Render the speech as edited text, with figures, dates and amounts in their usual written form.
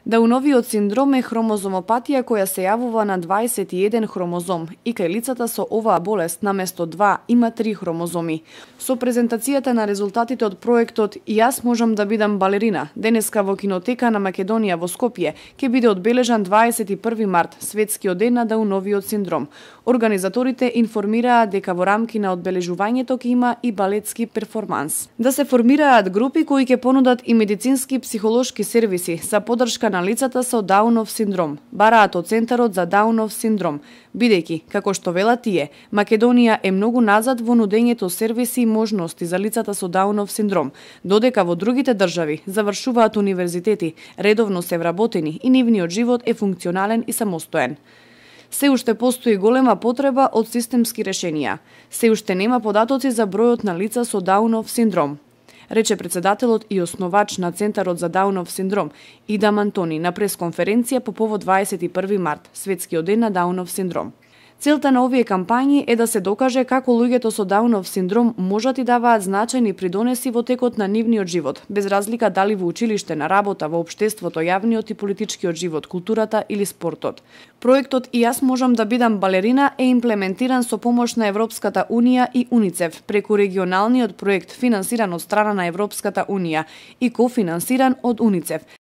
Дауновиот синдром е хромозомопатија која се јавува на 21 хромозом и кај лицата со оваа болест наместо 2 има 3 хромозоми. Со презентацијата на резултатите од проектот "Јас можам да бидам балерина" денеска во кинотека на Македонија во Скопје ќе биде одбележан 21 март, светскиот ден на Дауновиот синдром. Организаторите информираа дека во рамки на одбележувањето ќе има и балетски перформанс. Да се формираат групи кои ќе понудат и медицински и психолошки сервиси за поддршка на лицата со Даунов синдром, бараат од Центарот за Даунов синдром, бидејќи, како што велат тие, Македонија е многу назад во нудењето сервиси и можности за лицата со Даунов синдром, додека во другите држави завршуваат универзитети, редовно се вработени и нивниот живот е функционален и самостоен. Се уште постои голема потреба од системски решенија. Се уште нема податоци за бројот на лица со Даунов синдром, рече председателот и основач на Центарот за Даунов синдром Идам Антони на пресконференција по повод 21 март, светскиот ден на Даунов синдром. Целта на овие кампањи е да се докаже како луѓето со Даунов синдром можат и даваат значајни придонеси во текот на нивниот живот, без разлика дали во училиште, на работа, во општеството, јавниот и политичкиот живот, културата или спортот. Проектот "Јас можам да бидам балерина" е имплементиран со помош на Европската Унија и УНИЦЕФ преку регионалниот проект финансиран од страна на Европската Унија и кофинансиран од УНИЦЕФ